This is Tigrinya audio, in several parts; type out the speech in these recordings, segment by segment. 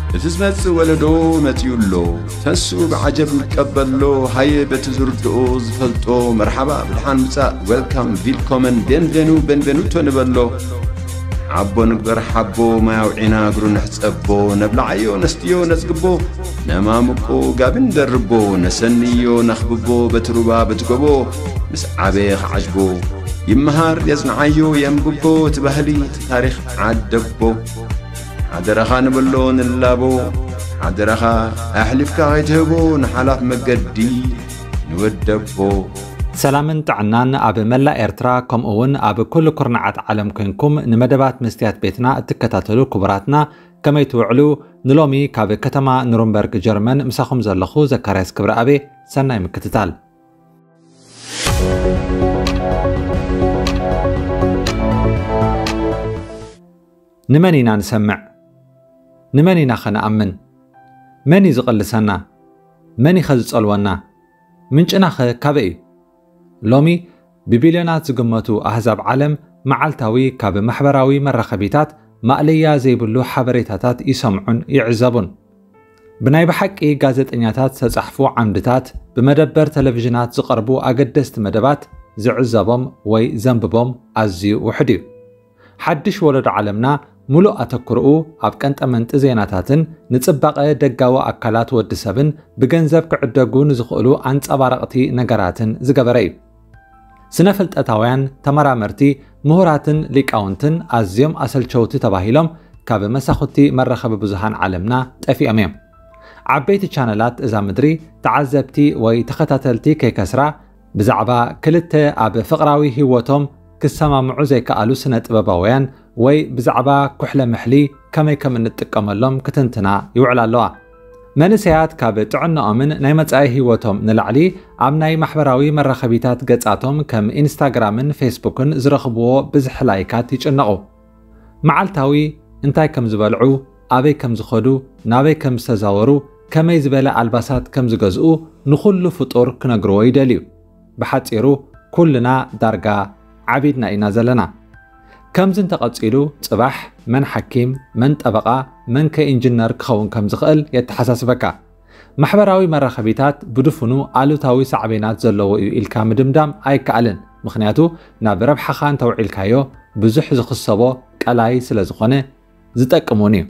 እቲ ዝመጽእ ወለዶ መጺኡ ኣሎ። ተስኡ ብዓጀብ ይቀበሎ። ሃየ በቲ ዝርድኦ ዝፈልጦ መርሓባ ብድሓን ምጻእ፣ ዌልካም፣ ቪልኮመን፣ ቤንቬኑ፣ ቤንቬኑቶ ንበሎ። ሓቦ ንግበር ሓቦ፣ ማይ ኣውዒና እግሩ ንሕጸቦ። ነብልዓዮ ነስትዮ ነጽግቦ፣ ነማምቆ ጋቢ ንደርቦ። ነሰንዮ ነኽብቦ በቲ ሩባ በቲ ጎቦ። ምስ ዓበየ ክዓጅቦ ይመሃር የጽንዓዮ የንብቦ። እቲ ባህሊ እቲ ታሪኽ ዓደቦ። ሓደራኻ ንበሎ ንላቦ። ሓደራኻ ኣሕሊፍካ ከይትህቦ ንሓላፍ መገዲ ንወደቦ። ሰላምን ጥዕናን ኣብ መላእ ኤርትራ፣ ከምኡ እውን ኣብ ኩሉ ኩርናዓት ዓለም ኮንኩም ንመደባት መስትያት ቤትና እትከታተሉ ክቡራትና፣ ከመይ ትውዕሉ? ንሎሚ ካብ ከተማ ኑርንበርግ ጀርመን ምሳኹም ዘለኹ ዘካርያስ ክብረኣቤ። ሰናይ ምክትታል። ንመን ኢና ንሰምዕ? ንመን ኢና ኸንኣምን? መን እዩ ዝቕልሰና? መን እዩ ኸ ዝጸልወና? ምንጭና ኸ ካበይ እዩ? ሎሚ ብቢልዮናት ዝግመቱ ኣህዛብ ዓለም መዓልታዊ ካብ ማሕበራዊ መራኸቢታት ማእለያ ዘይብሉ ሓበሬታታት ይሰምዑን ይዕዘቡን። ብናይ ብሓቂ ጋዜጠኛታት ዝተጻሕፉ ዓምድታት፣ ብመደበር ቴሌቪዥናት ዝቐርቡ ኣገደስቲ መደባት ዝዕዘቦም ወይ ዘንብቦም ኣዝዩ ውሑድ እዩ። ሓድሽ ወለዶ ዓለምና ምሉእ ኣተኩሮኡ ኣብ ቀንጠመንጢ ዜናታትን ንጽባቐ ደጋዊ ኣካላት ወዲ ሰብን ብገንዘብ ክዕደጉ ንዝኽእሉ ኣንጸባረቕቲ ነገራትን ዝገበረ እዩ። ስነ ፍልጠታውያን፣ ተመራመርቲ፣ ምሁራትን ሊቃውንትን ኣዝዮም ኣሰልቸውቲ ተባሂሎም ካብ መሳኹቲ መራኸቢ ብዙሃን ዓለምና ጠፊኦም እዮም። ዓበይቲ ቻነላት እዛ ምድሪ ተዓዘብቲ ወይ ተኸታተልቲ ከይከስራ፣ ብዛዕባ ክልተ ኣብ ፍቕራዊ ህይወቶም ክሰማምዑ ዘይከኣሉ ስነ ጥበባውያን ወይ ብዛዕባ ኩሕለ ምሕሊ ከመይ ከም እንጥቀመሎም ክትንትና ይውዕላ ኣለዋ። መንእሰያት ካብ ጥዕናኦምን ናይ መጻኢ ህይወቶም ንላዕሊ ኣብ ናይ ማሕበራዊ መራኸቢታት ገጻቶም ከም ኢንስታግራምን ፌስቡክን ዝረኽብዎ ብዝሒ ላይካት ይጭነቑ። መዓልታዊ እንታይ ከም ዝበልዑ፣ ኣበይ ከም ዝኸዱ፣ ናበይ ከም ዝተዛወሩ፣ ከመይ ዝበለ ኣልባሳት ከም ዝገዝኡ ንኹሉ ፍጡር ክነግርዎ ይደልዩ። ብሓጺሩ ኩልና ዳርጋ ዓቢድና ኢና ዘለና። ከምዚ እንተቐጺሉ ጽባሕ መን ሓኪም፣ መን ጠበቓ፣ መን ከ ኢንጂነር ክኸውን ከም ዝኽእል የተሓሳስበካ። ማሕበራዊ መራኸቢታት ብድፉኑ ኣሉታዊ ሳዕቤናት ዘለዎ እዩ ኢልካ ምድምዳም ኣይከኣልን። ምኽንያቱ ናብ ረብሓኻ እንተውዒልካዮ ብዙሕ ዝኽሰቦ ቀላይ ስለ ዝኾነ ዝጠቅም እውን እዩ።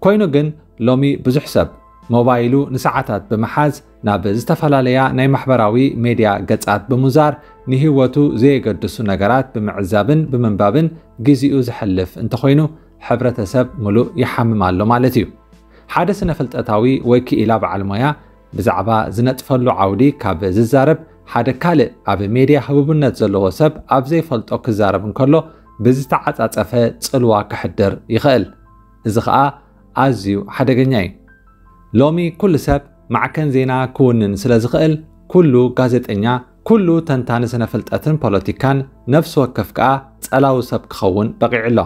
ኮይኑ ግን ሎሚ ብዙሕ ሰብ ሞባይሉ ንሰዓታት ብምሓዝ ናብ ዝተፈላለያ ናይ ማሕበራዊ ሜድያ ገጻት ብምዛር ንህይወቱ ዘየገድሱ ነገራት ብምዕዛብን ብምንባብን ግዜኡ ዘሕልፍ እንተኾይኑ ሕብረተሰብ ምሉእ ይሓምም ኣሎ ማለት እዩ። ሓደ ስነ ፍልጠታዊ ወይ ክኢላ በዓል ሞያ ብዛዕባ ዝነጥፈሉ ዓውዲ ካብ ዝዛረብ ሓደ ካልእ ኣብ ሜድያ ህቡብነት ዘለዎ ሰብ ኣብ ዘይፈልጦ ክዛረብ እንከሎ ብዝተዓጻጸፈ ጽልዋ ከሕድር ይኽእል። እዚ ኸኣ ኣዝዩ ሓደገኛ እዩ። ሎሚ ኩሉ ሰብ ማዕከን ዜና ክውንን ስለ ዝኽእል ኩሉ ጋዜጠኛ፣ ኩሉ ተንታኒ ስነ ፍልጠትን ፖለቲካን ነፍሲ ወከፍ ከኣ ጸላዊ ሰብ ክኸውን በቒዑ ኣሎ።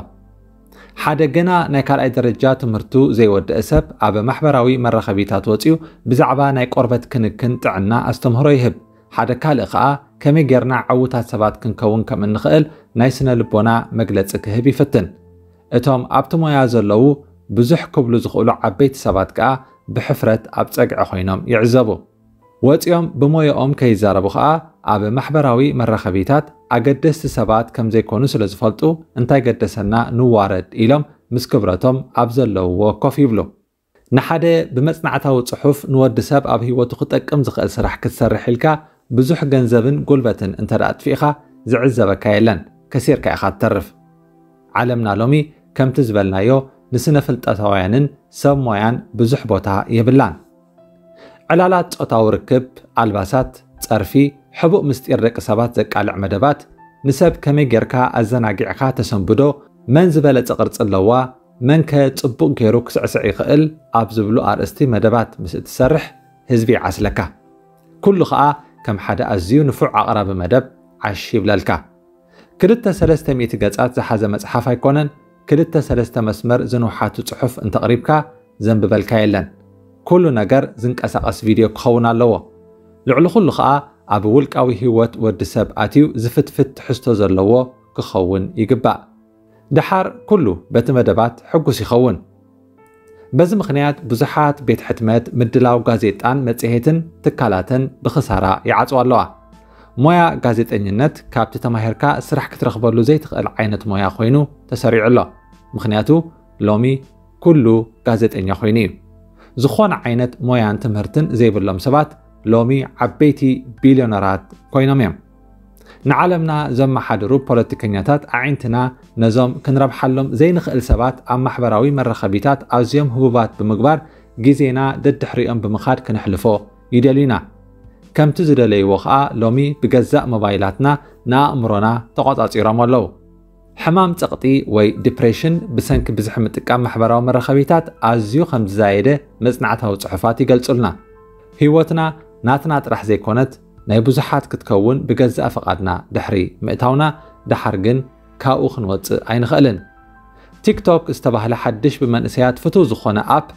ሓደ ገና ናይ ካልኣይ ደረጃ ትምህርቱ ዘይወደአ ሰብ ኣብ ማሕበራዊ መራኸቢታት ወጺኡ ብዛዕባ ናይ ቆርበት ክንክን ጥዕና ኣስተምህሮ ይህብ። ሓደ ካልእ ኸኣ ከመይ ጌርና ዕዉታት ሰባት ክንከውን ከም እንኽእል ናይ ስነ ልቦና መግለጺ ክህብ ይፍትን። እቶም ኣብቲ ሞያ ዘለዉ ብዙሕ ክብሉ ዝኽእሉ ዓበይቲ ሰባት ከኣ ብሕፍረት ኣብ ጸግዒ ኮይኖም ይዕዘቡ። ወጺኦም ብሞያኦም ከይዛረቡ ኸኣ ኣብ ማሕበራዊ መራኸቢታት ኣገደስቲ ሰባት ከም ዘይኮኑ ስለ ዝፈልጡ እንታይ ገደሰና ንዋረድ ኢሎም ምስ ክብረቶም ኣብ ዘለውዎ ኮፍ ይብሉ። ንሓደ ብመጽናዕታዊ ጽሑፍ ንወዲ ሰብ ኣብ ህይወቱ ክጠቅም ዝኽእል ስራሕ ክትሰርሕ ኢልካ ብዙሕ ገንዘብን ጉልበትን እንተ ደኣ ኣጥፊእኻ ዝዕዘበካ የለን፣ ከሲርካ ኢኻ ትተርፍ። ዓለምና ሎሚ ከምቲ ዝበልናዮ ንስነ ፍልጠታውያንን ሰብ ሞያን ብዙሕ ቦታ የብላን። ዕላላት ጾታዊ ርክብ፣ ኣልባሳት፣ ጸርፊ፣ ሕቡእ ምስጢር ደቂ ሰባት ዘቃልዕ መደባት፣ ንሰብ ከመይ ጌርካ ኣዘናጊዕካ ተሰንብዶ፣ መን ዝበለጸ ቅርጺ ኣለዋ፣ መን ከ ጽቡቕ ጌሩ ክስዕስዕ ይኽእል ኣብ ዝብሉ ኣርእስቲ መደባት ምስ እትሰርሕ ህዝቢ ይዓስለካ። ኩሉ ኸኣ ከም ሓደ ኣዝዩ ንፉዕ ኣቕራቢ መደብ ዓሽ ይብለልካ። ክልተ ሰለስተ ሚእቲ ገጻት ዝሓዘ መጽሓፍ ኣይኮነን፣ ክልተ ሰለስተ መስመር ዝንውሓቱ ጽሑፍ እንተቕሪብካ ዘንብበልካ የለን። ኩሉ ነገር ዝንቀሳቐስ ቪድዮ ክኸውን ኣለዎ። ልዕሊ ኩሉ ኸኣ ኣብ ውልቃዊ ህይወት ወዲ ሰብ ኣትዩ ዝፍትፍት ትሕዝቶ ዘለዎ ክኸውን ይግባእ። ደሓር ኩሉ በቲ መደባት ሕጉስ ይኸውን። በዚ ምኽንያት ብዙሓት ቤት ሕትመት፣ ምድላው ጋዜጣን መጽሔትን ትካላተን ብኽሳራ ይዓጽዋ ኣለዋ። ሞያ ጋዜጠኝነት ካብቲ ተማሂርካ ስራሕ ክትረኽበሉ ዘይትኽእል ዓይነት ሞያ ኮይኑ ተሰሪዑ ኣሎ። ምኽንያቱ ሎሚ ኩሉ ጋዜጠኛ ኮይኑ እዩ። ዝኾነ ዓይነት ሞያን ትምህርትን ዘይብሎም ሰባት ሎሚ ዓበይቲ ቢልዮነራት ኮይኖም እዮም። ንዓለምና ዘመሓድሩ ፖለቲከኛታት ኣዒንትና ነዞም ክንረብሓሎም ዘይንኽእል ሰባት ኣብ ማሕበራዊ መራኸቢታት ኣዝዮም ህቡባት ብምግባር ግዜና ደድሕሪኦም ብምኻድ ክነሕልፎ ይደልዩና። ከምቲ ዝደለይዎ ኸኣ ሎሚ ብገዛእ ሞባይላትና ንኣእምሮና ተቖጻጺሮም ኣለዉ። ሕማም ጸቕጢ ወይ ዲፕሬሽን ብሰንኪ ብዝሒ ምጥቃም ማሕበራዊ መራኸቢታት ኣዝዩ ከም ዝዛየደ መጽናዕታዊ ጽሑፋት ይገልጹልና። ህይወትና ናትና ጥራሕ ዘይኮነት ናይ ብዙሓት ክትከውን ብገዛእ ፍቓድና ድሕሪ ምእታውና ደሓር ግን ካብኡ ክንወጽእ ኣይንኽእልን። ቲክቶክ ዝተባህለ ሓድሽ ብመንእሰያት ፍቱው ዝኾነ ኣፕ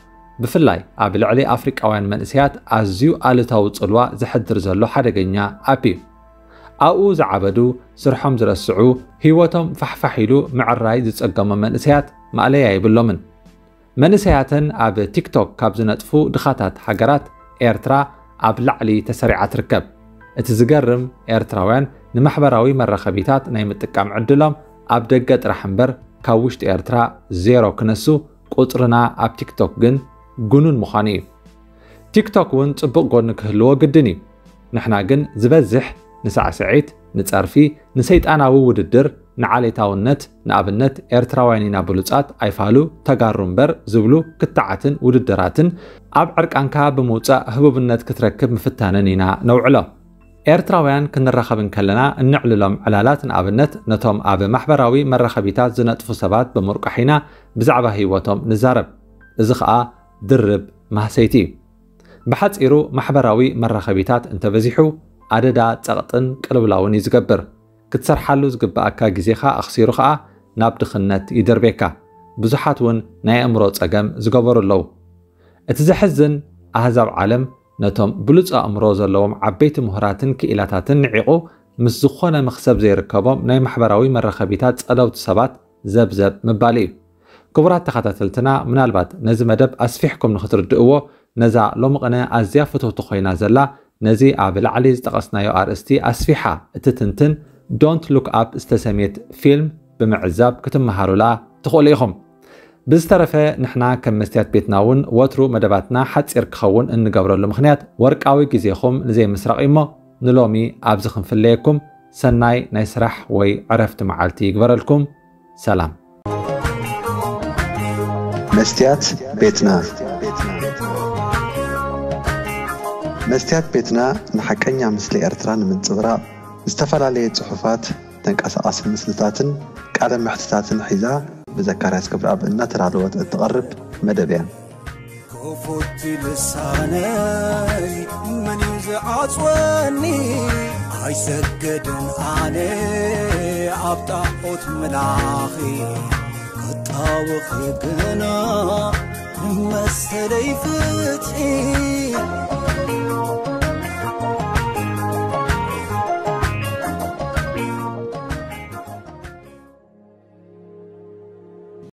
ብፍላይ ኣብ ልዕሊ ኣፍሪቃውያን መንእሰያት ኣዝዩ ኣሉታዊ ጽልዋ ዘሕድር ዘሎ ሓደገኛ ኣፕ እዩ። ኣብኡ ዝዓበዱ፣ ስርሖም ዝረስዑ፣ ህይወቶም ፋሕፋሕ ኢሉ ምዕራይ ዝጸገሞም መንእሰያት ማእለያ የብሎምን። መንእሰያተን ኣብ ቲክቶክ ካብ ዝነጥፉ ድኻታት ሃገራት ኤርትራ ኣብ ላዕሊ ተሰሪዓ ትርከብ። እቲ ዝገርም ኤርትራውያን ንማሕበራዊ መራኸቢታት ናይ ምጥቃም ዕድሎም ኣብ ደገ ጥራሕ እምበር ካብ ውሽጢ ኤርትራ ዜሮ ክነሱ ቁጽርና ኣብ ቲክቶክ ግን ግኑን ምዃኑ እዩ። ቲክቶክ እውን ጽቡቕ ጎኒ ክህልዎ ግድን እዩ። ንሕና ግን ዝበዝሕ ንሳዕስዒት፣ ንጸርፊ፣ ንሰይጣናዊ ውድድር፣ ንዓሌታውነት፣ ንኣብነት ኤርትራውያን ኢና ብሉጻት ኣይፋሉ ተጋሩ እምበር ዝብሉ ክትዓትን ውድድራትን ኣብ ዕርቃንካ ብምውጻእ ህቡብነት ክትረክብ ምፍታንን ኢና ነውዕሎ። ኤርትራውያን ክንራኸብ እንከለና እንዕልሎም ዕላላት ንኣብነት ነቶም ኣብ ማሕበራዊ መራኸቢታት ዝነጥፉ ሰባት ብምርቋሕ ኢና ብዛዕባ ህይወቶም ንዛረብ። እዚ ኸኣ ድርብ ማህሰይቲ እዩ። ብሓጺሩ ማሕበራዊ መራኸቢታት እንተበዚሑ ኣደዳ ጸቕጥን ቅልውላውን እዩ ዝገብር። ክትሰርሓሉ ዝግብኣካ ግዜኻ ኣኽሲሩ ኸኣ ናብ ድኽነት ይደርቤካ። ብዙሓት እውን ናይ ኣእምሮ ጸገም ዝገበሩ ኣለዉ። እቲ ዘሕዝን ኣህዛብ ዓለም ነቶም ብሉጽ ኣእምሮ ዘለዎም ዓበይቲ ምሁራትን ክኢላታትን ንዒቑ ምስ ዝኾነ መኽሰብ ዘይርከቦም ናይ ማሕበራዊ መራኸቢታት ጸለውቲ ሰባት ዘብዘብ ምባል እዩ። ክቡራት ተኸታተልትና ምናልባት ነዚ መደብ ኣስፊሕኩም ንክትርድእዎ ነዛ ሎሚ ቅነ ኣዝያ ፍትውቲ ኮይና ዘላ ነዚ ኣብ ላዕሊ ዝጠቐስናዮ ኣርእስቲ ኣስፊሓ እትትንትን ዶንት ሉክ ኣፕ ዝተሰምየት ፊልም ብምዕዛብ ክትመሃሩላ ትኽእሉ ኢኹም። ብዝተረፈ ንሕና ከም መስትያት ቤትና እውን ወትሩ መደባትና ሓጺር ክኸውን እንገብረሉ ምኽንያት ወርቃዊ ግዜኹም ንዘይምስራቕ እዩ እሞ ንሎሚ ኣብዚ ክንፍለየኩም ሰናይ ናይ ስራሕ ወይ ዕረፍቲ መዓልቲ ይግበረልኩም። ሰላም። መስትያት ቤትና መስትያት ቤትና ንሓቀኛ ምስሊ ኤርትራ ንምንጽብራቕ ዝተፈላለየ ጽሑፋት፣ ተንቀሳቓሲ ምስልታትን ቃለ መሕትታትን ሒዛ ብዘካርያስ ክብረኣብ እናተዳለወት እትቐርብ መደብ እያ። ክፉት ልሳነይ መን እዩ ዝዓጽወኒ? ኣይሰገድን ኣነ ኣብ ጣዖት ምላኺ ክጣወኺ ግና መሰለይ ፍትሒ